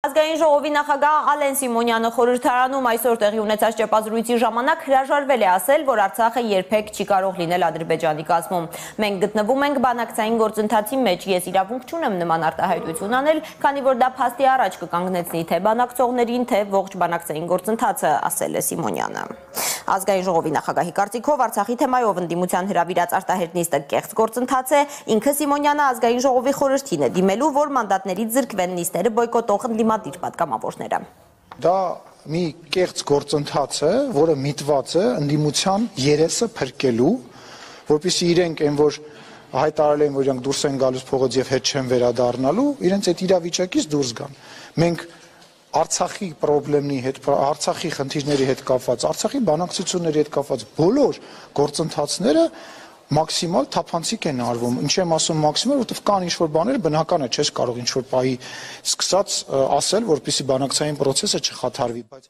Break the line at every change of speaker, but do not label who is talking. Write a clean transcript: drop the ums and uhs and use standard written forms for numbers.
Ազգային ժողովի նախագահ Ալեն Սիմոնյանը խորհրդարանում այսօր տեղի ունեցած ճեպազրույցի ժամանակ հրաժարվել է ասել, որ Արցախը երբեք չի կարող լինել Ադրբեջանի կազմում։ Մենք գտնվում ենք բանակցային գործընթացի մեջ, ես իրավունք չունեմ նման արտահայտություն անել, քանի որ դա փաստի առաջ կկանգնեցնի թե բանակցողներին, թե ողջ բանակցային գործընթացը, ասել է Սիմոնյանը։ Ազգային ժողովի նախագահի կարծիքով Արցախի թեմայով ընդդիմության հրավիրած արտահերտնիստը կեղծ գործընթաց է, ինքը Սիմոնյանը ազգային ժողովի խորհրդին է դիմելու, որ մանդատներից զրկվեն նիստերը բոյկոտող ընդդիմադիր պատգամավորները։
Դա մի կեղծ գործընթաց է, որը միտված է ընդդիմության երեսը փրկելու, որպեսզի իրենք այն որ հայտարարել են, որ իրանք դուրս են գալուց փողոց եւ հետ չեն վերադառնալու, իրենց այդ իրավիճակից դուրս գան։ Մենք Արցախի խնդիրների հետ կապված, Արցախի բանակցությունների հետ կապված բոլոր գործընթացները մաքսիմալ թափանցիկ են արվում։ Ինչ եմ ասում մաքսիմալ, որովհետև կան ինչ-որ բաներ, բնական է, չես կարող ինչ-որ պահի սկսած ասել, որպեսզի բանակցային process-ը չխաթարվի, բայց